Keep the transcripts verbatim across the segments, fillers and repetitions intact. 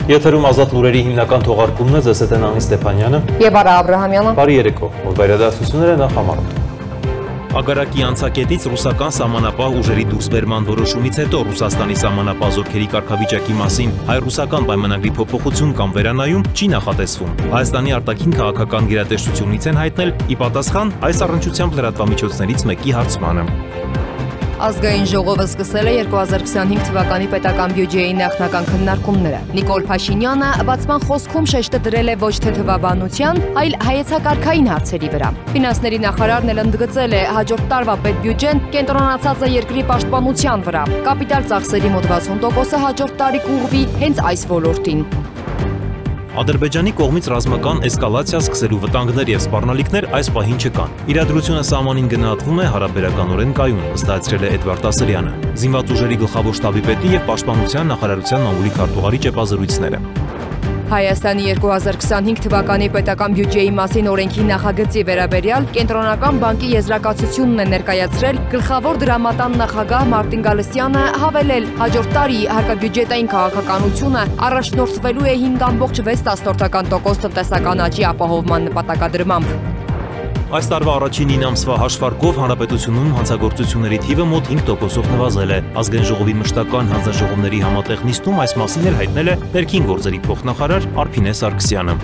Եթերում ազատ լուրերի հիմնական թողարկումն է, ձեզ հետ են Անի Ստեփանյանը եւ Արա Աբրահամյանը։ Բարի երեկո, որ վերադասությունները նախ համարոտ։ Ագարակի անցակետից ռուսական սահմանապահ ուժերի դուրսբերման որոշումից հետո Ռուսաստանի սահմանապահ զորքերի կարգավիճակի մասին հայ-ռուսական պայմանագրի փոփոխություն կամ վերանայում չի նախատեսվում։ Հայաստանի արտաքին քաղաքական գերատեսչությունից են հայտնել ի պատասխան այս առնչությամբ լրատվամիջոցներից մեկի հարցմանը։ Ազգային ժողովը սկսել է երկու հազար քսանհինգ թվականի պետական բյուջեի նախնական քննարկումները։ Նիկոլ Փաշինյանը բացման խոսքում շեշտը դրել է ոչ թե թվաբանության, այլ հայեցակարգային հարցերի վրա։ Ֆինանսների նախարարն էլ ընդգծել է հաջորդ տարվա պետբյուջեն կենտրոնացած է երկրի պաշտպանության վրա։ Կապիտալ ծախսերի մոտ վաթսուն տոկոսը հաջորդ տարի կուղղվի հենց այս ոլորտին։ Ադրբեջանի կողմից ռազմական էսկալացիա սկսելու վտանգներ եւ սպառնալիքներ այս պահին չկան։ Իրադրությունը սահմանին գնահատվում է հարաբերականորեն կայուն, վստահեցրել է Էդվարդ Ասրյանը, զինված ուժերի գլխավոր շտաբի պետի եւ պաշտպանության նախարարության մամուլի քարտուղարի ճեպազրույցները։ Հայաստանի երկու հազար քսանհինգ թվականի պետական բյուջեի մասին օրենքի նախագծի վերաբերյալ Կենտրոնական բանկի եզրակացությունն է ներկայացրել գլխավոր դրամատան նախագահ Մարտին Գալստյանը, հավելել հաջորդ տարի հարկաբյուջետային քաղաքականությունը առաջնորդվելու է հինգ կόμμα վեց տոկոս տնտեսական աճի ապահովման նպատակադրմամբ։ Այս տարվա առաջին ինը ամսվա հաշվարկով հանրապետությունում հանցագործությունների թիվը մոտ հինգ տոկոսով նվազել է։ Ազգային ժողովի մշտական հանձնաժողովների համատեղ նիստում այս մասին էլ հայտնել է ներքին գործերի փոխնախարար Արփինե Սարգսյանը։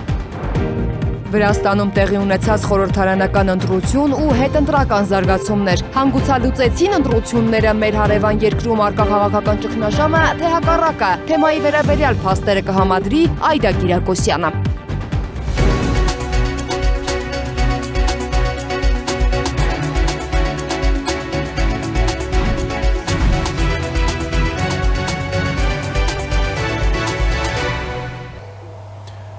Վրաստանում տեղի ունեցած խորհրդարանական ընտրություն ու հետընտրական զարգացումներ հանգուցալուծեցին ընտրությունները մեր հարևան երկրում առկա քաղաքական ճգնաժամը, թե հակառակը, թեմայի վերաբերյալ փաստերը կհամադրի Այդա Կիրակոսյանը։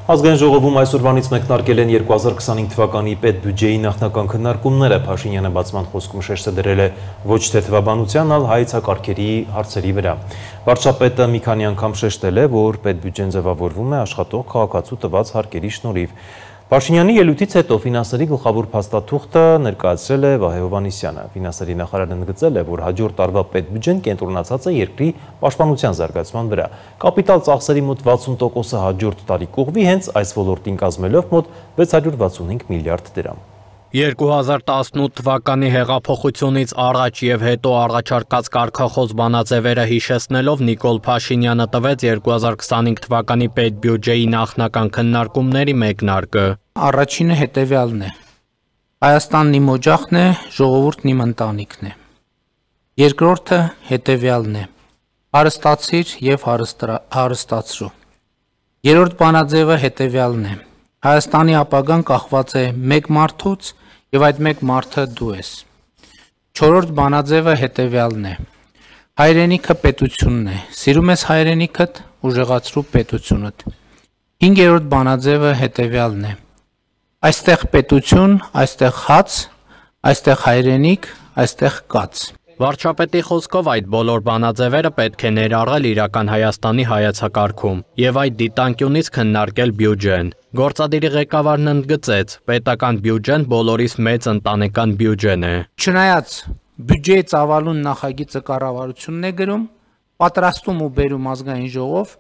Ազգային ժողովում այսօրվանից մեկնարկել են երկու հազար քսանհինգ թվականի պետբյուջեի նախնական քննարկումները։ Փաշինյանը բացման խոսքում շեշտը դրել է ոչ թե թվաբանության, այլ հայեցակարգերի հարցերի վրա։ Վարչապետը մի քանի անգամ շեշտել է, որ պետբյուջեն ձևավորվում է աշխատող քաղաքացու տված հարկերի շնորհիվ։ Փաշինյանի ելույթից հետո ֆինանսների գլխավոր փաստաթուղթը ներկայացրել է Վահե Հովհաննիսյանը։ Ֆինանսների նախարարն ընդգծել է, որ հաջորդ տարվա պետբյուջեն կենտրոնացած է երկրի պաշտպանության զարգացման վրա։ Կապիտալ ծախսերի մոտ վաթսուն տոկոսը հաջորդ տարի կուղղվի հենց այս ոլորտին կազմելով մոտ վեց հարյուր վաթսունհինգ միլիարդ դրամ։ երկու հազար տասնութ թվականի հեղափոխությունից առաջ եւ հետո առաջարկած կարգախոս բանաձևերը հիշեցնելով Նիկոլ Փաշինյանը տվեց երկու հազար քսանհինգ թվականի պետբյուջեի նախնական քննարկումների մեկնարկը։ Առաջինը հետևյալն է. Հայաստանն իմ օջախն է, ժողովուրդն իմ ընտանիքն է։ Երկրորդը հետևյալն է. հարստացիր եւ հարստացրու։ Երրորդ բանաձևը հետևյալն է. Հայաստանի ապագան կախված է մեկ մարդուց եւ այդ մեկ մարդը դու ես։ Չորրորդ բանաձևը հետևյալն է. հայրենիքը պետությունն է, սիրում ես հայրենիքդ, ուժեղացրու պետությունդ։ Հինգերորդ բանաձևը հետևյալն է. այստեղ պետություն, այստեղ հաց, այստեղ հայրենիք, այստեղ կաց։ Վարչապետի խոսքով այդ բոլոր բանաձևերը պետք է ներառել իրական Հայաստանի հայեցակարգում եւ այդ դիտանկյունից քննարկել բյուջեն։ Գործադիրի ղեկավարն ընդգծեց, պետական բյուջեն բոլորիս մեծ ընտանեկան բյուջեն է։ Չնայած բյուջեի ծավալուն նախագիծը կառավարությունն է գրում, պատրաստում ու բերում ազգային ժողով,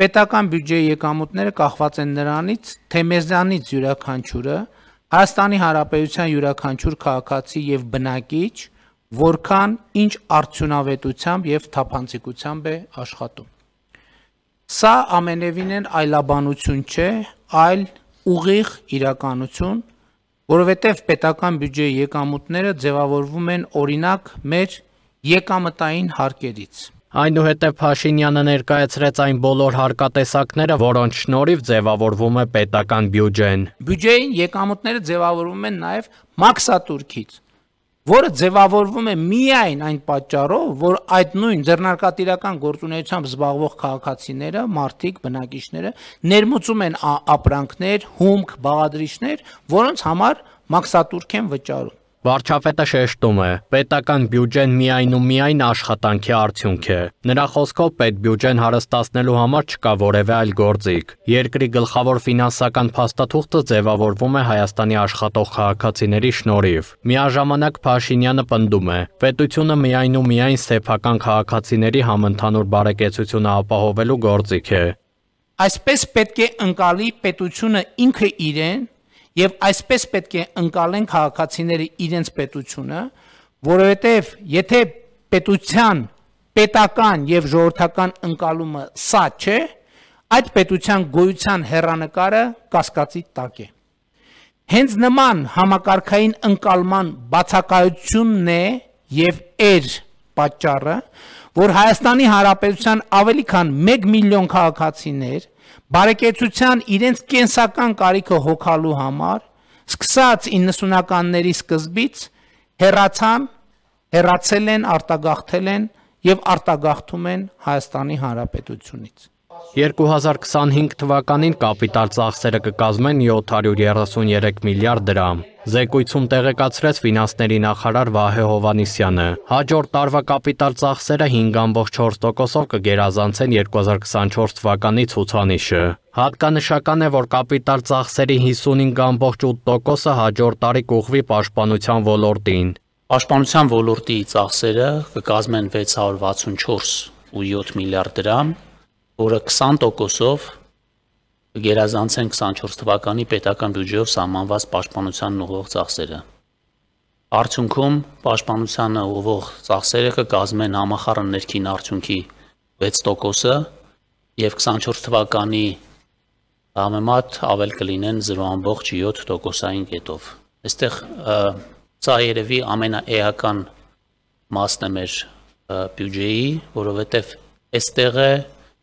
պետական բյուջեի եկամուտները կախված են նրանից, թե մեզանից յուրաքանչյուրը, Հայաստանի Հանրապետության յուրաքանչյուր քաղաքացի եւ բնակիչ որքան ինչ արդյունավետությամբ եւ թափանցիկությամբ է աշխատում։ Սա ամենևին են այլաբանություն չէ, այլ ուղիղ իրականություն, որովհետեւ պետական բյուջեի եկամուտները ձևավորվում են օրինակ մեր եկամտային հարկերից։ Այնուհետև Փաշինյանը ներկայացրեց այն բոլոր հարկատեսակները, որոնց շնորհիվ ձևավորվում է պետական բյուջեն։ Բյուջեի եկամուտները ձևավորվում են նաեւ մաքսատուրքից, որը ձևավորվում է միայն այն պատճառով, որ այդ նույն ձեռնարկատիրական գործունեությամբ զբաղվող քաղաքացիները, մարդիկ, բնակիչները ներմուծում են ապրանքներ, հումք, բաղադրիչներ, որոնց համար մաքսատուրք են վճարում։ Վարչապետը շեշտում է, պետական բյուջեն միայն ու միայն աշխատանքի արդյունք է։ Նրա խոսքով պետբյուջեն հարստացնելու համար չկա որևէ այլ գործիք։ Երկրի գլխավոր ֆինանսական փաստաթուղթը ձևավորվում է Հայաստանի աշխատող քաղաքացիների շնորհիվ։ Միաժամանակ Փաշինյանը պնդում է, պետությունը միայն ու միայն սեփական քաղաքացիների համընդհանուր բարեկեցությունը ապահովելու գործիք է։ Այսպես պետք է ընկալի պետությունը ինքը իրեն եւ այսպես պետք է ընկալեն քաղաքացիները իրենց պետությունը, որովհետեւ եթե պետության պետական եւ ժողովրդական ընկալումը սա չէ, այդ պետության գոյության հեռանկարը կասկածի տակ է։ Հենց նման համակարգային ընկալման բացակայությունն է եւ էր պատճառը, որ Հայաստանի Հանրապետության ավելի քան մեկ միլիոն քաղաքացիներ բարեկեցության իրենց կենսական կարիքը հոգալու համար, սկսած իննսունականների սկզբից հեռացան, հեռացել են, արտագաղթել են եւ արտագաղթում են Հայաստանի Հանրապետությունից։ երկու հազար քսանհինգ թվականին կապիտալ ծախսերը կկազմեն յոթ հարյուր երեսունյերեք միլիարդ դրամ։ Զեկույցում տեղեկացրեց ֆինանսների նախարար Վահե Հովհաննիսյանը։ Հաջորդ տարվա կապիտալ ծախսերը հինգ կoma չորս տոկոսով կգերազանցեն երկու հազար քսանչորս թվականի ցուցանիշը։ Հատկանշական է, որ կապիտալ ծախսերի հիսունհինգ կoma ութ տոկոսը հաջորդ տարի կուղղվի պաշտպանության ոլորտին։ Պաշտպանության ոլորտի ծախսերը կկազմեն վեց հարյուր վաթսունչորս կoma յոթ միլիարդ դրամ, որը քսան տոկոսով կգերազանցեն քսանչորս թվականի պետական բյուջեով սահմանված պաշտպանության ուղղող ծախսերը։ Արդյունքում պաշտպանությանը ուղղող ծախսերը կկազմեն համախառն ներքին արդյունքի վեց տոկոսը եւ քսանչորս թվականի համեմատ ավել կլինեն զրո կoma յոթ տոկոսային կետով։ Այստեղ սա երևի ամենաէական մասն է մեր բյուջեի, որովհետեւ այստեղ է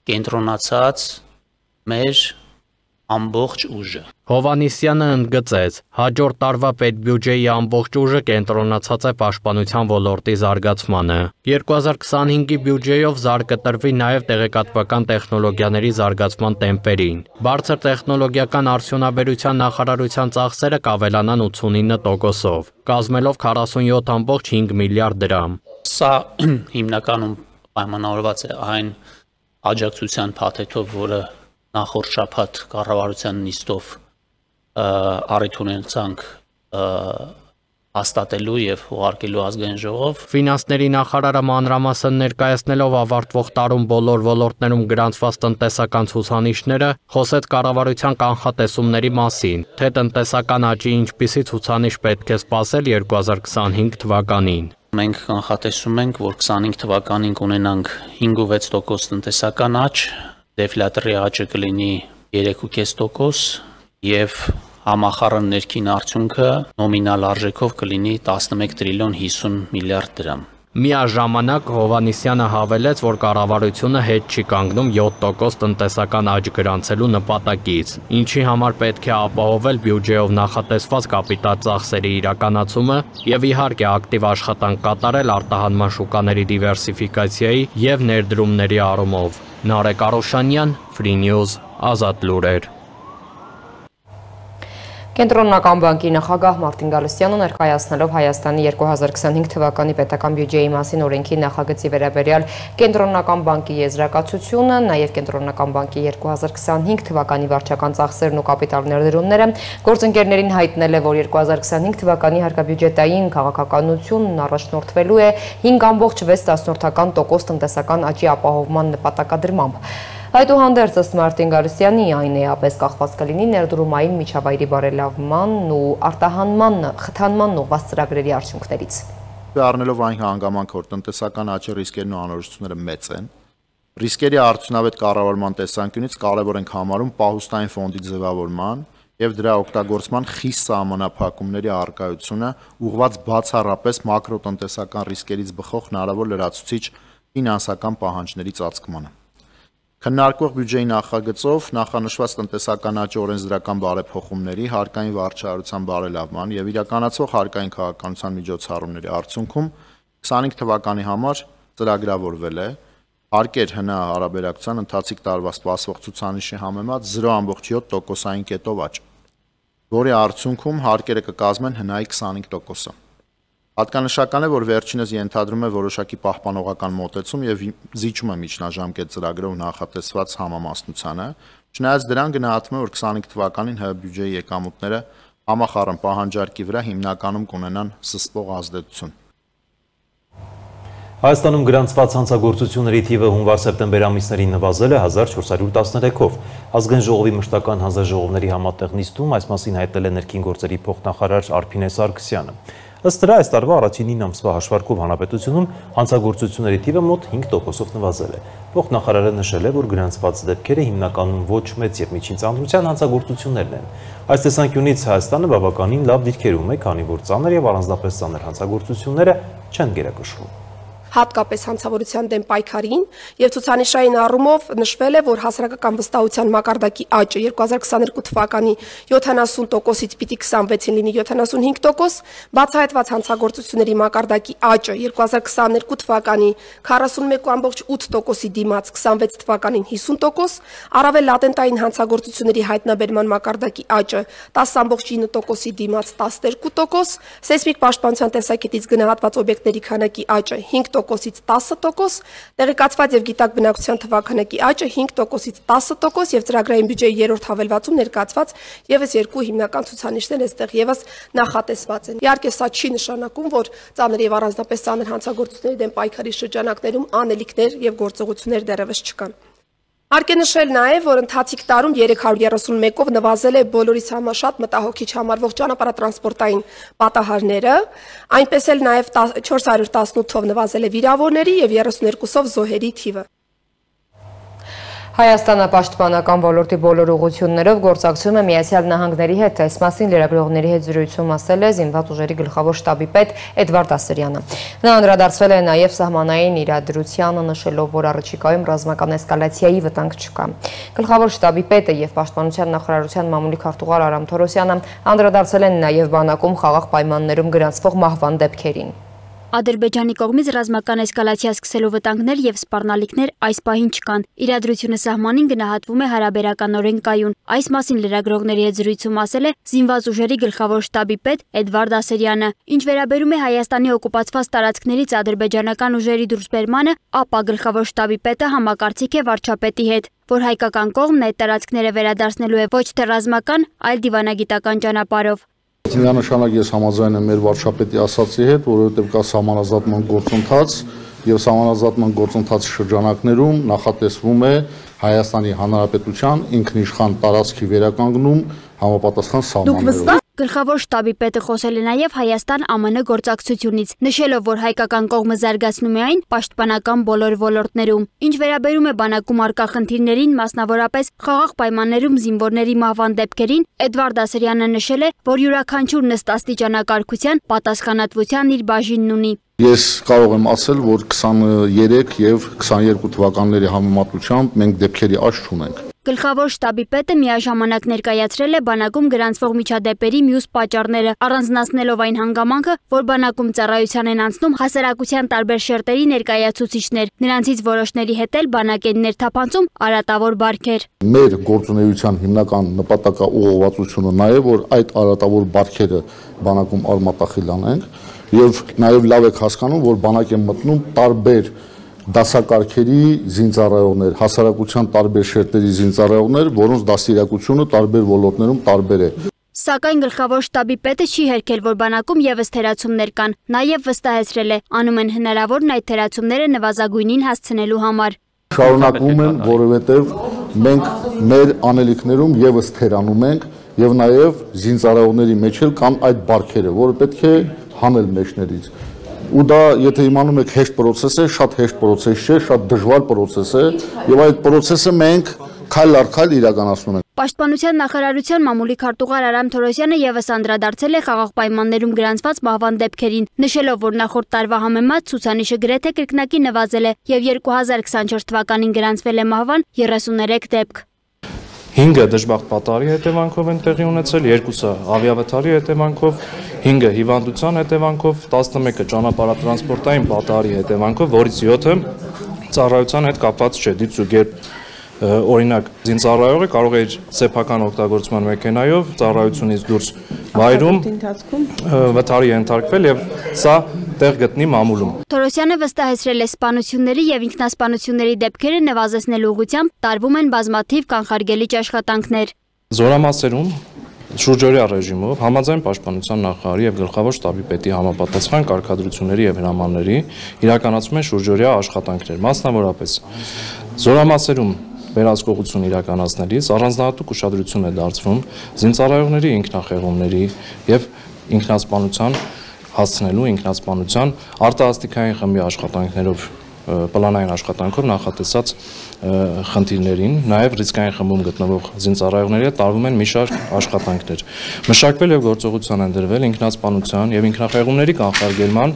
կենտրոնացած մեր ամբողջ ուժը։ Հովհաննիսյանը ընդգծեց, հաջորդ տարվա պետբյուջեի ամբողջ ուժը կենտրոնացած է պաշտպանության ոլորտի զարգացմանը։ երկու հազար քսանհինգի բյուջեով զարգ կտրվի նաև տեղեկատվական տեխնոլոգիաների զարգացման տեմպերին։ Բարձր տեխնոլոգիական արդյունաբերության նախարարության ծախսերը կավելանան ութսունինը տոկոսով, կազմելով քառասունյոթ կoma հինգ միլիարդ դրամ։ Սա հիմնականում պայմանավորված է այն աջակցության փաթեթով, որը նախորդ շաբաթ կառավարության նիստով առիթ ունեցանք հաստատելու եւ ուղարկելու ազգային ժողով։ Ֆինանսների նախարարը մանրամասն ներկայացնելով ավարտվող տարում բոլոր ոլորտներում գրանցված տնտեսական ցուցանիշները, խոսեց կառավարության կանխատեսումների մասին, թե տնտեսական աճի ինչպիսի ցուցանիշ պետք է սպասել երկու հազար քսանհինգ թվականին։ Մենք կանխատեսում ենք, որ քսանհինգ թվականին կունենանք հինգ կoma վեց տոկոս տնտեսական աճ, դեֆլյատորի աճը կլինի երեք կoma պինգ տոկոս եւ համախառն ներքին արդյունքը նոմինալ արժեքով կլինի տասնմեկ տրիլիոն հիսուն միլիարդ դրամ։ Միաժամանակ Հովհաննիսյանը հավելեց, որ կառավարությունը հետ չի կանգնում յոթ տոկոս տնտեսական աճ գրանցելու նպատակից, ինչի համար պետք է ապահովել բյուջեով նախատեսված կապիտալ ծախսերի իրականացումը եւ իհարկե ակտիվ աշխատանք կատարել արտահանման շուկաների դիվերսիֆիկացիայի եւ ներդրումների առումով։ Նարեկ Արոշանյան, Free News, Ազատ լուրեր։ Կենտրոնական բանկի նախագահ Մարտին Գալստյանը ներկայացնելով Հայաստանի երկու հազար քսանհինգ թվականի պետական բյուջեի մասին օրենքի նախագծի վերաբերյալ Կենտրոնական բանկի եզրակացությունը, նաև Կենտրոնական բանկի երկու հազար քսանհինգ թվականի վարչական ծախսերն ու կապիտալ ներդրումները, գործընկերներին հայտնել է, որ երկու հազար քսանհինգ թվականի հարկաբյուջետային քաղաքականությունն առաջնորդվելու է հինգ կoma վեց տոկոս տնտեսական աճի ապահովման նպատակադրմամբ։ Այդուհանդերձ ըստ Մարտին Գալստյանի այն էապես կախված կլինի ներդրումային միջավայրի բարելավմանն ու արտահանման խթանմանն ուղղված ծրագրերի արդյունքներից։ Առնելով այն հանգամանքը, որ տնտեսական աճի ռիսկերն ու անորոշությունները մեծ են, ռիսկերի արդյունավետ կառավարման տեսանկյունից կարևոր ենք համարում պահուստային ֆոնդի ձևավորման եւ դրա օգտագործման խիստ սահմանափակումների առկայությունը ուղղված բացառապես մակրոտնտեսական ռիսկերից բխող հնարավոր լրացուցիչ ֆինանսական պահանջների ծածկմանը։ Քննարկվող բյուջեի նախագծով նախանշված տնտեսական աճի օրենսդրական բարեփոխումների, հարկային վարչարարության բարելավման եւ իրականացվող հարկային քաղաքականության միջոցառումների արդյունքում քսանհինգ թվականի համար ծրագրավորվել է հարկեր հնա հարաբերակցության ընթացիկ տարվա սպասվող ցուցանիշի համեմատ զրո կoma յոթ տոկոսային կետով աճ, որի արդյունքում հարկերը կկազմեն հնայի քսանհինգ տոկոսը։ Հատկանշական է, որ վերջինս ենթադրում է որոշակի պահպանողական մոտեցում եւ զիջում է միջնաժամկետ ծրագրով նախատեսված համամասնությանը, չնայած դրան գնահատվում է, որ քսանհինգ թվականին ՀՀ բյուջեի եկամուտները համախառն պահանջարկի վրա հիմնականում կունենան զսպող ազդեցություն։ Հայաստանում գրանցված հանցագործությունների թիվը հունվար-սեպտեմբեր ամիսներին նվազել է հազար չորս հարյուր տասներեքով։ Ազգային ժողովի մշտական հանձնաժողովների համատեղ նիստում այս մասին հայտնել է ներքին գործերի փոխնախարար Արփինե Սարգսյանը։ Ըստ դրա այս տարվա առաջին ինը ամսվա հաշվարկով հանրապետությունում հանցագործությունների թիվը մոտ հինգ տոկոսով նվազել է։ Փոխնախարարը նշել է, որ գրանցված դեպքերը հիմնականում ոչ մեծ եւ միջին ծանրության հանցագործություններն են։ Այս տեսանկյունից Հայաստանը բավականին լավ դիրքերում է, քանի որ ծանր եւ առանձնապես ծանր հանցագործությունները չեն գերակշռում։ Հատկապես հանցավորության դեմ պայքարին եւ ցուցանիշային առումով նշվել է, որ հասարակական վստահության մակարդակի աճը երկու հազար քսաներկու թվականի յոթանասուն տոկոսից պիտի քսանվեցին լինի յոթանասունհինգ տոկոս, բացահայտված հանցագործությունների մակարդակի աճը երկու հազար քսաներկու թվականի քառասունմեկ կόμ ութ տոկոսի դիմաց քսանվեց թվականին հիսուն տոկոս, առավել լատենտային հանցագործությունների հայտնաբերման մակարդակի աճը տասը կόμ ինը տոկոսի դիմաց տասներկու տոկոս, սեյսմիկ պաշտպանության տեսակետից գնահատված օբյեկտների քանակի աճը հինգ տոկոսից տասը տոկոս, տեղեկացված եւ գիտակ բնակչության թվաքանակի աճը հինգ տոկոսից տասը տոկոս եւ ծրագրային բյուջեի երրորդ հավելվածում ներկայացված եւս երկու հիմնական ցուցանիշներ այստեղ եւս նախատեսված են։ Իհարկե սա չի նշանակում, որ ծանր եւ առանձնապես ծանր հանցագործությունների դեմ պայքարի շրջանակներում անելիքներ եւ գործողություններ դեռևս չկան։ Հարկ է նշել նաև, որ ընթացիկ տարում երեք հարյուր երեսունմեկով նվազել է բոլորից համաշատ մտահոգիչ համարվող ճանապարհատրանսպորտային պատահարները, այնպես էլ նաև չորս հարյուր տասնութով նվազել է վիրավորների եւ երեսուներկուսով զոհերի թիվը։ Հայաստանը պաշտպանական ոլորտի բոլոր ուղղություններով գործակցում է Միացյալ Նահանգների հետ, այս մասին լրագրողների հետ զրույցում ասել է Զինված ուժերի գլխավոր շտաբի պետ Էդվարդ Ասրյանը։ Նա անդրադարձել է նաև սահմանային իրադրությանը, նշելով, որ առաջիկայում ռազմական էսկալացիայի վտանգ չկա։ Գլխավոր շտաբի պետը եւ Պաշտպանության նախարարության մամուլի քարտուղար Արամ Թորոսյանը անդրադարձել են նաև բանակում խաղաղ պայմաններում գրանցվող մահվան դեպքերին։ Ադրբեջանի կողմից ռազմական էսկալացիա սկսելու վտանգներ եւ սպառնալիքներ այս պահին չկան։ Իրադրությունը սահմանին գնահատվում է հարաբերականորեն կայուն։ Այս մասին լրագրողների հետ զրույցում ասել է Զինված ուժերի գլխավոր շտաբի պետ Էդվարդ Ասրյանը։ Ինչ վերաբերում է Հայաստանի օկուպացված տարածքներից ադրբեջանական ուժերի դուրսբերմանը, ապա գլխավոր շտաբի պետը համակարծիք է վարչապետի հետ, որ հայկական կողմն այդ տարածքները վերադարձնելու է ոչ թե ռազմական, այլ դիվանագիտական ճանապարհով։ Միանշանակ ես համաձայն եմ մեր վարչապետի ասացի հետ, որովհետև կա սահմանազատման գործընթաց եւ սահմանազատման գործընթացի շրջանակներում նախատեսվում է Հայաստանի Հանրապետության ինքնիշխան տարածքի վերականգնում համապատասխան սահմաններով։ Գլխավոր շտաբի պետը խոսել է նաև Հայաստան-Α Մ Ն գործակցությունից, նշելով, որ հայկական կողմը զարգացնում է այն պաշտպանական բոլոր ոլորտներում։ Ինչ վերաբերում է բանակում առկա խնդիրներին, մասնավորապես խաղաղ պայմաններում զինվորների մահվան դեպքերին, Էդվարդ Ասրյանը նշել է, որ յուրաքանչյուր նստաստիճանակարգության պատասխանատվության իր բաժինն ունի։ Ես կարող եմ ասել, որ քսաներեք եւ քսաներկու թվականների համեմատությամբ մենք դեպքերի աճ չունենք։ Գլխավոր շտաբի պետը միաժամանակ ներկայացրել է բանակում գրանցվող միջադեպերի մյուս պատճառները, առանձնացնելով այն հանգամանքը, որ բանակում ծառայության են անցնում հասարակության տարբեր շերտերի ներկայացուցիչներ, նրանցից որոշների հետ էլ բանակ են ներթափանցում արատավոր բարքեր։ Մեր գործունեության հիմնական նպատակաուղղվածությունը նա է, որ այդ արատավոր բարքերը բանակում արմատախիլ անենք եւ նաեւ լավ եք հասկանում, որ բանակ են մտնում տարբեր դասակարգերի զինծառայողներ, հասարակության տարբեր շերտերի զինծառայողներ, որոնց դաստիարակությունը տարբեր ոլորտներում տարբեր է։ Սակայն գլխավոր շտաբի պետը չի հերքել, որ բանակում եւս թերացումներ կան, նաեւ վստահեցրել է, անում են հնարավորն այդ թերացումները նվազագույնին հասցնելու համար։ Շարունակվում են, որովհետեւ մենք մեր անելիքներում եւս թերանում ենք եւ նաեւ զինծառայողների մեջ էլ կան այդ բարքերը, որը պետք է հանել մեջներից։ Ու դա, եթե իմանում եք, հեշտ պրոցես է, շատ հեշտ պրոցես չէ, շատ դժվար պրոցես է, եւ այդ պրոցեսը մենք քայլ առ քայլ իրականացնում ենք։ Պաշտպանության նախարարության մամուլի քարտուղար Արամ Թորոսյանը եւս անդրադարձել է խաղաղ պայմաններում գրանցված մահվան դեպքերին, նշելով, որ նախորդ տարվա համեմատ ցուցանիշը գրեթե կրկնակի նվազել է եւ երկու հազար քսանչորս թվականին գրանցվել է մահվան երեսուներեք դեպք։ հինգը դժբախտ պատահարի հետևանքով են տեղի ունեցել, երկուսը ավիավթարի հետևանքով, հինգը հիվանդության հետևանքով, տասնմեկը ճանապարհատրանսպորտային պատահարի հետևանքով, որից յոթը ծառայության հետ կապված չէ, դիպչուկ երբ օրինակ զինծառայողը կարող է իր սեփական օգտագործման մեքենայով ծառայությունից դուրս վայրում վթարի ենթարկվել եւ սա տեղ գտնի մամուլում։ Թորոսյանը վստահեցրել է սպանությունների եւ ինքնասպանությունների դեպքերը նվազեցնելու ուղղությամբ տարվում են բազմաթիվ կանխարգելիչ աշխատանքներ։ Զորամասերում շուրջօրյա ռեժիմով համաձայն պաշտպանության նախարարի եւ գլխավոր շտաբի պետի համապատասխան կարգադրությունների եւ հրամանների իրականացում են շուրջօրյա աշխատանքներ, մասնավորապես զորամասերում վերահսկողություն իրականացնելիս առանձնահատուկ ուշադրություն է դարձվում զինծառայողների ինքնախեղումների եւ ինքնասպանության հասցնելու ինքնասպանության արտահասթիկային խմբի աշխատանքներով պլանային աշխատանքով նախատեսած խնդիրներին, նաև ռիսկային խմբում գտնվող զինծառայողների հետ տարվում են մի շարք աշխատանքներ։ Մշակվել եւ գործողության են դրվել ինքնասպանության եւ ինքնախեղումների կանխարգելման,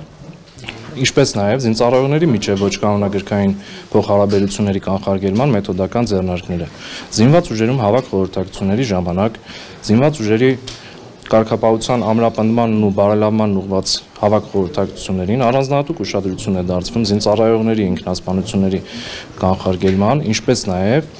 ինչպես նաև զինծառայողների միջև ոչ կանոնագրքային փոխհարաբերությունների կանխարգելման մեթոդական ձեռնարկները։ Զինված ուժերում հավաք խորհրդակցությունների ժամանակ զինված ուժերի կարգապահության ամրապնդմանն ու բարելավմանն ուղղված հավաք խորհրդակցություններին առանձնահատուկ ուշադրություն է դարձվում զինծառայողների ինքնասպանությունների կանխարգելման, ինչպես նաև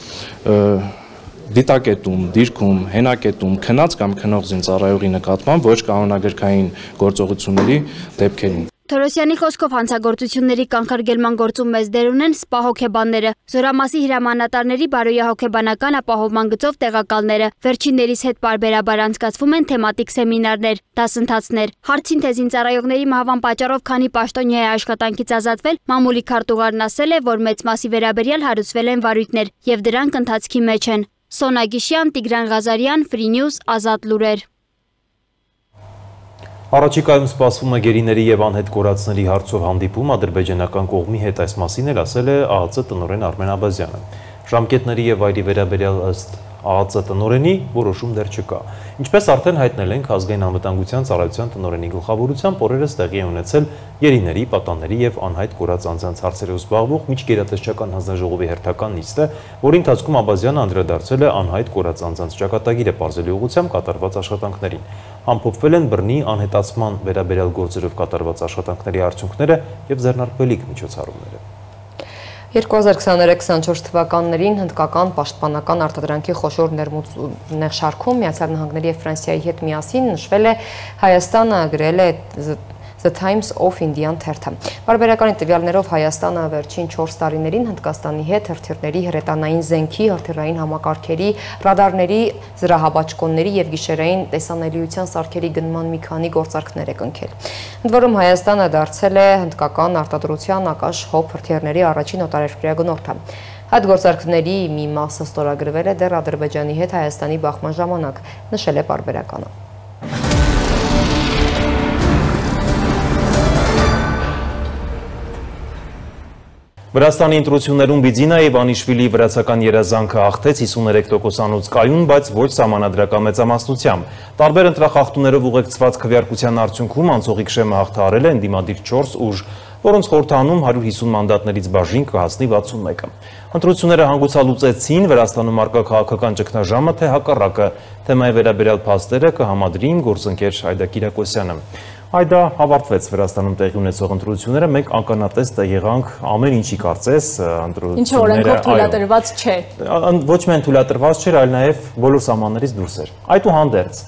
դիտակետում, դիրքում, հենակետում, քնած կամ քնող զինծառայողի նկատմամբ ոչ կանոնագրքային գործողությունների դեպքերին։ Թորոսյանի խոսքով հանցագործությունների կանխարգելման գործում մեծ դեր ունեն սպա հոգեբանները, զորամասի հրամանատարների բարոյահոգեբանական ապահովման գծով տեղակալները։ Վերջիններիս հետ պարբերաբար անցկացվում են թեմատիկ սեմինարներ, դասընթացներ։ Հարցին թե զինծառայողների մահվան պատճառով քանի պաշտոնյա է աշխատանքից ազատվել, մամուլի քարտուղարն ասել է, որ մեծ մասի վերաբերյալ հարուցվել են վարույթներ եւ դրանք ընթացքի մեջ են։ Սոնա Գիշյան, Տիգրան Ղազարյան, Free News, Ազատ լուրեր։ Առաջիկայում սպասվում է գերիների եւ անհետ կորածների հարցով հանդիպում ադրբեջանական կողմի հետ, այս մասին էլ ասել է ԱԱԾ տնօրեն Արմեն Աբազյանը։ Ժամկետների եւ վայրի վերաբերյալ ըստ ԱԱԾ տնօրենի որոշում դեռ չկա։ Ինչպես արդեն հայտնել ենք, ազգային անվտանգության ծառայության տնօրենի գլխավորությամբ օրերս տեղի է ունեցել գերիների, պատանների եւ անհայտ կորած անձանց հարցերով զբաղվող միջգերատեսչական հանձնաժողովի հերթական նիստը, որի ընթացքում Աբազյանը անդրադարձել է անհայտ կորած անձանց ճակատագիրը պարզելու ուղղությամբ կատարված աշխատանքներին։ Ամփոփվել են բռնի անհետացման վերաբերյալ գործերով կատարված աշխատանքների արդյունքները եւ ձեռնարկվելիք միջոցառումները։ երկու հազար քսաներեք քսանչորս թվականներին հնդկական պաշտպանական արտադրանքի խոշոր ներշարքում Միացյալ Նահանգների եւ Ֆրանսիայի հետ միասին նշվել է Հայաստանը գրել է The Times of Indian թերթը։ Պարբերականի տվյալներով Հայաստանը վերջին չորս տարիներին Հնդկաստանի հետ հրթիռների, հրետանային զենքի, հրթիռային համակարգերի, ռադարների, զրահաբաճկոնների եւ գիշերային տեսանելիության սարքերի գնման մի քանի գործարքներ է կնքել։ Ընդ որում Հայաստանը դարձել է հնդկական արտադրության ակաշ հոբ հրթիռների առաջին օտարերկրյա գնորդը։ Այդ գործարքների մի մասը ստորագրվել է դեռ Ադրբեջանի հետ Հայաստանի բախման ժամանակ, նշել է պարբերականը։ Վրաստանի ընտրություններում Բիձինայի Իվանիշվիլի վրացական երազանքը հաղթեց հիսուներեք տոկոսանոց կայուն, բայց ոչ սահմանադրական մեծամասնությամբ։ Տարբեր ընտրախախտումներով ուղեկցված քվեարկության արդյունքում անցողիկ շեմը հաղթահարել է ընդդիմադիր չորս ուժ, որոնց խորհրդանում հարյուր հիսուն մանդատներից բաժին կհասնի վաթսունմեկը։ Ընտրությունները հանգուցալուծեցին Վրաստանում առկա քաղաքական ճգնաժամը, թե հակառակը, թեմայի վերաբերյալ փաստերը կհամադրի իմ գործընկեր Այդա Կիրակոսյանը։ Այդա, ավարտվեց Վրաստանում տեղի ունեցող ընտրությունները, մենք ականատես եղանք ամեն ինչի կարծես ընտրությունները։ Ինչը օրենքով թույլատրված չէ։ Ոչ միայն թույլատրված չէր, այլ նաև բոլոր սահմաններից դուրս էր։ Այդուհանդերձ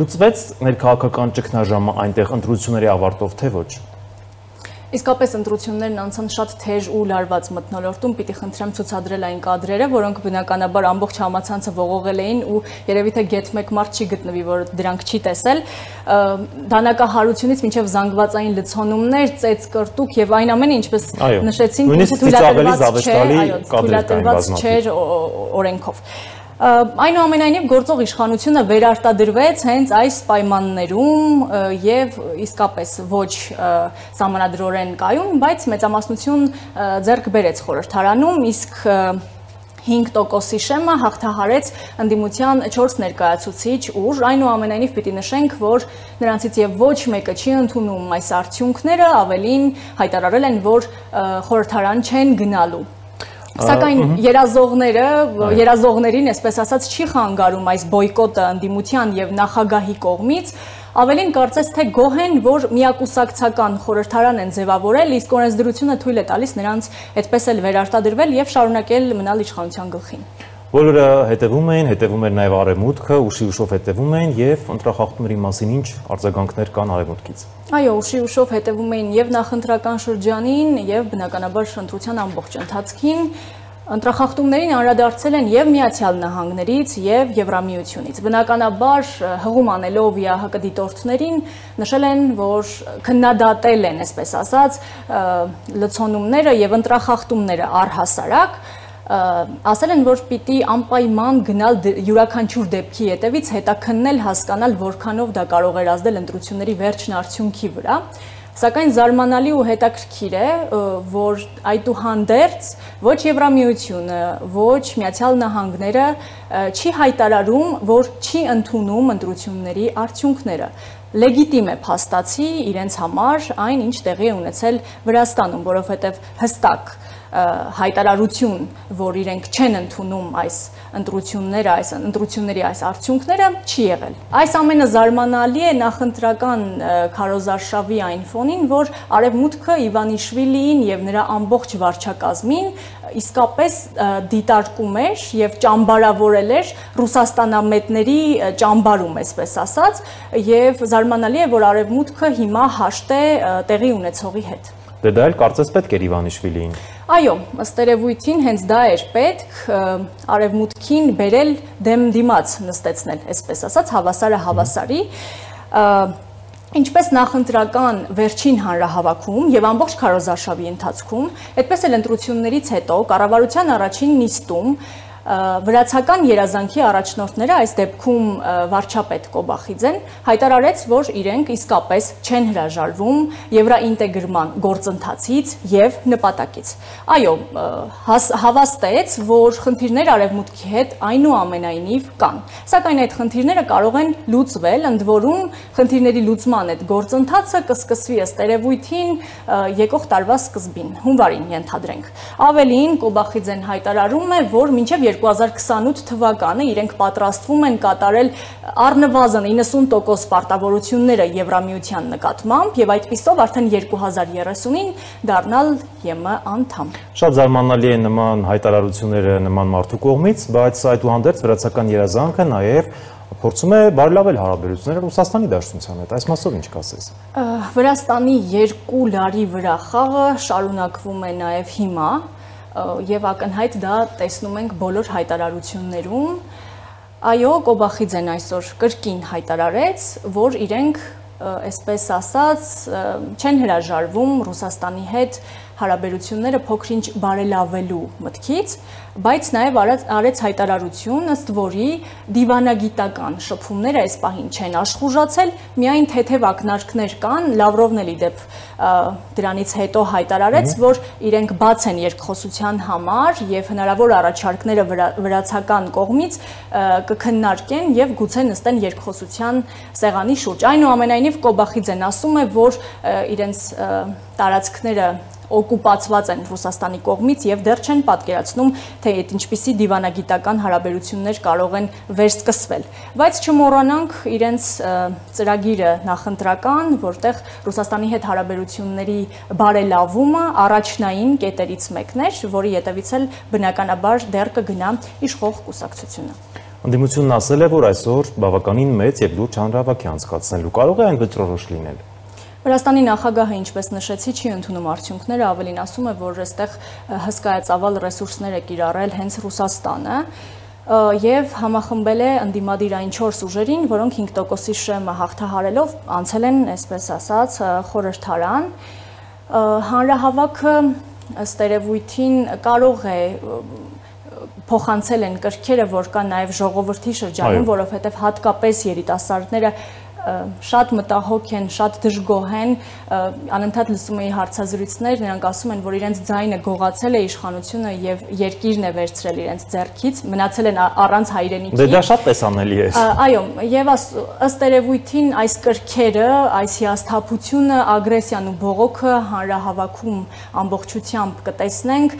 լուծվեց ներքաղաքական ճգնաժամը այնտեղ ընտրությունների ավարտով, թե ոչ։ Իսկապես ընտրություններն անցան շատ թեժ ու լարված մթնոլորտում, պիտի խնդրեմ ցուցադրել այն կադրերը, որոնք բնականաբար ամբողջ համացանցը ողողել էին ու երևի թե գետ մեկ մարդ չի գտնվի, որ դրանք չի տեսել։ Դանակահարությունից մինչև զանգվածային լցոնումներ, ծեծ կրտուկ եւ այն ամենը, ինչպես նշեցինք, թույլատրված չէր օրենքով։ Այնուամենայնիվ գործող իշխանությունը վերարտադրվեց հենց այս պայմաններում եւ իսկապես ոչ սահմանադրորեն կայուն, բայց մեծամասնություն ձեռք բերեց խորհրդարանում, իսկ հինգ տոկոսի շեմը հաղթահարեց ընդդիմության չորս ներկայացուցիչ ուժ, այնուամենայնիվ պիտի նշենք, որ նրանցից եւ ոչ մեկը չի ընդունում այս արդյունքները, ավելին հայտարարել են, որ խորհրդարան չեն գնալու։ Սակայն երազողները, երազողներին, այսպես ասած, չի խանգարում այս բոյկոտը ընդդիմության եւ նախագահի կողմից, ավելին կարծես թե գոհ են, որ միակուսակցական խորհրդարան են ձևավորել, իսկ օրենսդրությունը թույլ է տալիս նրանց այդպես էլ վերարտադրվել եւ շարունակել մնալ իշխանության գլխին։ Բոլորը հետևում էին, հետևում էր նաև արևմուտքը, ուշի ուշով հետևում էին եւ ընտրախախտումների մասին ինչ արձագանքներ կան արևմուտքից։ Այո, ուշի ուշով հետևում էին եւ նախընտրական շրջանին եւ բնականաբար ընտրության ամբողջ ընթացքին։ Ընտրախախտումներին անդրադարձել են եւ Միացյալ Նահանգներից եւ Եվրամիությունից։ Բնականաբար հղում անելով ԵԱՀԿ դիտորդներին նշել են, որ քննադատել են, այսպես ասած, լցոնումները եւ ընտրախախտումները առհասարակ, ասել են, որ պիտի անպայման գնալ յուրաքանչյուր դեպքի հետևից հետաքննել, հասկանալ, որքանով դա կարող էր ազդել ընտրությունների վերջին արդյունքի վրա։ Սակայն զարմանալի ու հետաքրքիր է, որ այդուհանդերձ ոչ Եվրամիությունը, ոչ Միացյալ Նահանգները չի հայտարարում, որ չի ընդունում ընտրությունների արդյունքները։ Լեգիտիմ է փաստացի իրենց համար այն, ինչ տեղի է ունեցել Վրաստանում, որովհետև հստակ հայտարարություն, որ իրենք չեն ընդունում այս ընտրությունները, այս ընտրությունների այս արդյունքները չի եղել։ Այս ամենը զարմանալի է նախընտրական քարոզարշավի այն ֆոնին, որ Արևմուտքը Իվանիշվիլիին եւ նրա ամբողջ վարչակազմին իսկապես դիտարկում էր եւ ճամբարավորել էր ռուսաստանամետների ճամբարում, այսպես ասած, եւ զարմանալի է, որ Արևմուտքը հիմա հաշտ է տեղի ունեցողի հետ։ Դե դա էլ կարծես պետք էր Իվանիշվիլիին։ Այո, ըստ երևույթին հենց դա էր պետք Արևմուտքին բերել դեմ դիմաց նստեցնել, այսպես ասած, հավասարը հավասարի, ինչպես նախընտրական վերջին հանրահավաքում եւ ամբողջ քարոզարշավի ընթացքում, այդպես էլ ընտրություններից հետո կառավարության առաջին նիստում վրացական երազանքի առաջնորդները, այս դեպքում վարչապետ Կոբախիձեն, հայտարարեց, որ իրենք իսկապես չեն հրաժարվում եվրաինտեգրման գործընթացից եւ նպատակից։ Այո, հավաստեց, որ խնդիրներ Արևմուտքի հետ այնուամենայնիվ կան, սակայն այդ խնդիրները կարող են լուծվել, ընդ որում խնդիրների լուծման այդ գործընթացը կսկսվի ըստ երևույթին եկող տարվա սկզբին, հունվարին ենթադրենք։ Ավելին, Կոբախիձեն հայտարարում է, որ մինչև երկու հազար քսանութ թվականը իրենք պատրաստվում են կատարել առնվազն իննսուն տոկոս պարտավորությունները Եվրամիության նկատմամբ եւ այդպիսով արդեն երկու հազար երեսունին դառնալ ԵՄ անդամ։ Շատ զարմանալի է նման հայտարարությունները նման մարդու կողմից, բայց այդուհանդերձ վրացական երազանքը նաեւ փորձում է բարելավել հարաբերությունները Ռուսաստանի Դաշնության հետ։ Այս մասով ինչ կասես։ Վրաստանի երկու լարի վրա խաղը շարունակվում է նաեւ հիմա եւ ակնհայտ դա տեսնում ենք բոլոր հայտարարություններում։ Այո, Կոբախիձեն այսօր կրկին հայտարարեց, որ իրենք, այսպես ասած, չեն հրաժարվում Ռուսաստանի հետ հարաբերությունները փոքր-ինչ բարելավելու մտքից, բայց նաև արեց հայտարարություն, ըստ որի դիվանագիտական շփումները այս պահին չեն աշխուժացել, միայն թեթև ակնարկներ կան, Լավրովն էլ ի դեպ դրանից հետո հայտարարեց, որ իրենք բաց են երկխոսության համար եւ հնարավոր առաջարկները վրացական կողմից կքննարկեն եւ գուցե նստեն երկխոսության սեղանի շուրջ։ Այնուամենայնիվ Կոբախիձեն ասում է, որ իրենց տարածքները օկուպացված են Ռուսաստանի կողմից եւ դեռ չեն պատկերացնում, թե այդ ինչպիսի դիվանագիտական հարաբերություններ կարող են վերսկսվել։ Բայց չմոռանանք իրենց ծրագիրը նախընտրական, որտեղ Ռուսաստանի հետ հարաբերությունների բարելավումը առաջնային կետերից մեկն էր, որի հետևից էլ բնականաբար դեռ կգնա իշխող կուսակցությունը։ Ընդդիմությունն ասել է, որ այսօր բավականին մեծ եւ լուրջ հանրահավաք է անցկացնելու, կարող է այն վճռորոշ լինել։ Վրաստանի նախագահը, ինչպես նշեցի, չի ընդունում արդյունքները, ավելին ասում է, որ այստեղ հսկայածավալ ռեսուրսներ է կիրառել հենց Ռուսաստանը եւ համախմբել է ընդդիմադիր այն չորս ուժերին, որոնք հինգ տոկոսի շեմը հաղթահարելով անցել են, այսպես ասած, խորհրդարան։ Հանրահավաքը ըստ երևույթին կարող է փոխանցել են կրքերը, որ կան նաև ժողովրդի շրջանում, որովհետև հատկապես երիտասարդները շատ մտահոգ են, շատ դժգոհ են, անընդհատ լսում էի հարցազրույցներ, նրանք ասում են, որ իրենց ձայնը գողացել է իշխանությունը եւ երկիրն է վերցրել իրենց ձեռքից, մնացել են առանց հայրենիքի։ Դե դա շատ տեսանելի է։ Այո, եւ ըստ երևույթին այս կրքերը, այս հիասթափությունը, ագրեսիան ու բողոքը հանրահավաքում ամբողջությամբ կտեսնենք,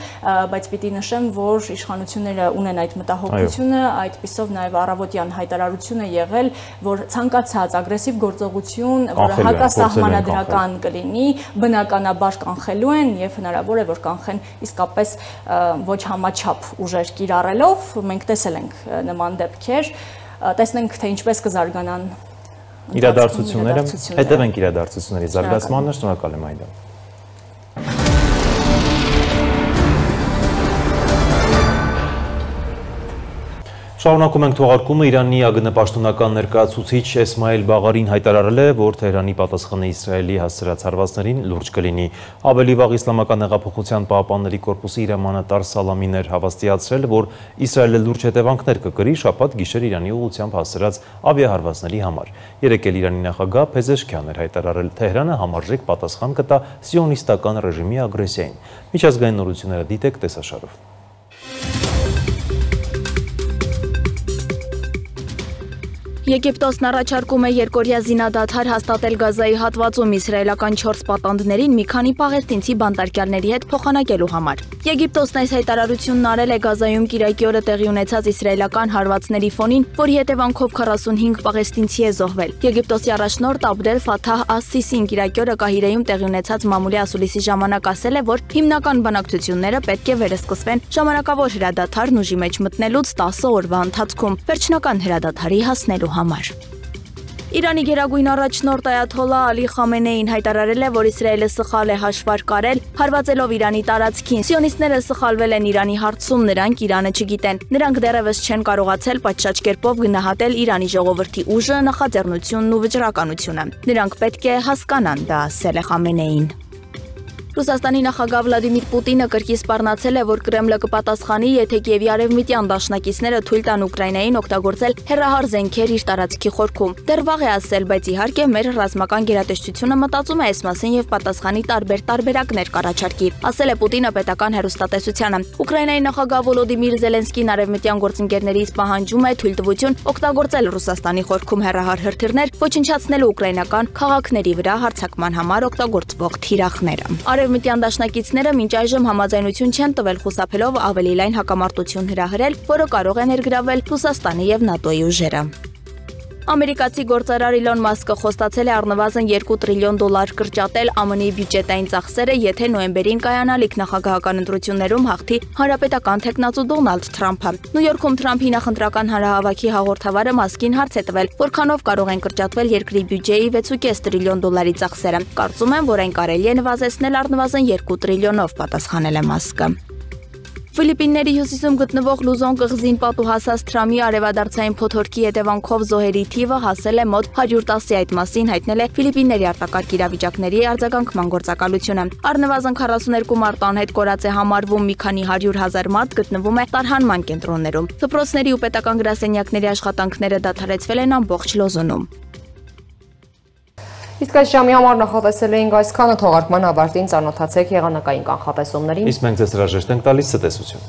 բայց պիտի նշեմ, որ իշխանությունները ունեն այդ մտահոգությունը, այդպիսով նաեւ առավոտյան հայտարարություն է եղել, որ ցանկացած ագրեսիվ գործողություն, որը հակասահմանադրական կլինի, բնականաբար կանխելու են եւ հնարավոր է, որ կանխեն իսկապես ոչ համաչափ ուժեր կիրառելով, մենք տեսել ենք նման դեպքեր, տեսնենք, թե ինչպես կզարգանան իրադարձությունները, հետևենք իրադարձությունների զարգացմանը, շնորհակալ եմ Այդա։ Շարունակում ենք թողարկումը Իրանի ԱԳՆ պաշտոնական ներկայացուցիչ Էսմայել Բաղարին հայտարարել է, որ Թեհրանի պատասխանը Իսրայելի հասցրած հարվածներին լուրջ կլինի։ Ավելի վաղ Իսլամական հեղափոխության պահապանների կորպուսի իր հրամանատար Սալամին էր հավաստիացրել, որ Իսրայելը լուրջ հետևանքներ կկրի շաբաթ գիշեր Իրանի ուղղությամբ հասցրած ավիահարվածների համար։ Երեկ էլ Իրանի նախագահ Փեզեշքյանն էր հայտարարել, Թեհրանը համարժեք պատասխան կտա սիոնիստական ռեժիմի ագրեսիային։ Միջազգային նորությունները դիտեք տեսաշարով։ Եգիպտոսն առաջարկում է երկօրյա զինադադար հաստատել Գազայի հատվածում իսրայելական չորս պատանդներին մի քանի պաղեստինցի բանտարկյալների հետ փոխանակելու համար։ Եգիպտոսն այս հայտարարությունն արել է Գազայում կիրակի օրը տեղի ունեցած իսրայելական հարվածների ֆոնին, որի հետևանքով քառասունհինգ պաղեստինցի է զոհվել։ Եգիպտոսի առաջնորդ Աբդել Ֆաթահ Աս-Սիսին կիրակի օրը Կահիրեում տեղի ունեցած մամուլի ասուլիսի ժամանակ ասել է, որ հիմնական բանակցությունները պետք է վերսկսվեն ժամանակավոր հրադադարն ուժի մեջ մտնելուց տասը օրվա ընթացքում վերջնական հրադադարի հասնելու համար։ Իրանի գերագույն առաջնորդ Այաթոլլահ Ալի Խամենեին հայտարարել է, որ Իսրայելը սխալ է հաշվարկ արել, հարվածելով Իրանի տարածքին։ Սիոնիստները սխալվել են Իրանի հարցում, նրանք Իրանը չգիտեն։ Նրանք դեռևս չեն կարողացել պատշաճ կերպով գնահատել Իրանի ժողովրդի ուժը, նախաձեռնությունն ու վճռականությունը։ Նրանք պետք է հասկանան դա, ասել է Խամենեին։ Ռուսաստանի նախագահ Վլադիմիր Պուտինը կրկին սպառնացել է, որ Կրեմլը կպատասխանի, եթե Կիևի արևմտյան դաշնակիցները թույլ տան Ուկրաինային օգտագործել հեռահար զենքեր իր տարածքի խորքում։ Դեռ վաղ է ասել, բայց իհարկե մեր ռազմական գերատեսչությունը մտածում է այս մասին եւ պատասխանի տարբեր տարբերակներ կառաջարկի, ասել է Պուտինը պետական հեռուստատեսությանը։ Ուկրաինայի նախագահ Վոլոդիմիր Զելենսկին արևմտյան գործընկերներից պահանջում է թույլտվություն օգտագործել Ռուսաստանի խորքում հեռահար հրթիռներ, ոչնչացնելու ուկրաինական քաղաքների վրա հարձակման համար օգտագործվող թիրախները։ Արևմտյան դաշնակիցները մինչ այժմ համաձայնություն չեն տվել խուսափելով ավելի լայն հակամարտություն հրահրել, որը կարող է ներգրավել Ռուսաստանի եւ ՆԱՏՕ-ի ուժերը։ Ամերիկացի գործարար Իլոն Մասկը խոստացել է առնվազն երկու տրիլիոն դոլար կրճատել ԱՄՆ-ի բյուջետային ծախսերը, եթե նոյեմբերին կայանալիք նախագահական ընտրություններում հաղթի հանրապետական թեկնածու Դոնալդ Թրամփը։ Նյու Յորքում Թրամփի նախընտրական հանրահավաքի հաղորդավարը Մասկին հարց է տվել, որքանով կարող են կրճատվել երկրի բյուջեի վեց ու կես տրիլիոն դոլարի ծախսերը։ Կարծում եմ, որ այն կարելի է նվազեցնել առնվազն երկու տրիլիոնով, պատասխանել է Մասկը։ Ֆիլիպինների հյուսիսում գտնվող Լուզոն կղզին պատուհասած Թրամի արևադարձային փոթորկի հետևանքով զոհերի թիվը հասել է մոտ հարյուր տասի, այդ մասին հայտնել է Ֆիլիպինների արտակարգ իրավիճակների արձագանքման գործակալությունը։ Առնվազն քառասուներկու մարդ անհետ կորած է համարվում, մի քանի հարյուր հազար մարդ գտնվում է տարհանման կենտրոններում։ Դպրոցների ու պետական գրասենյակների աշխատանքները դադարեցվել են ամբողջ Լոզոնում։ Իսկ այս ժամի համար նախատեսել էինք այսքանը, թողարկման ավարտին ծանոթացեք եղանակային կանխատեսումներին։ Իսկ մենք ձեզ հրաժեշտ ենք տալիս ցտեսություն։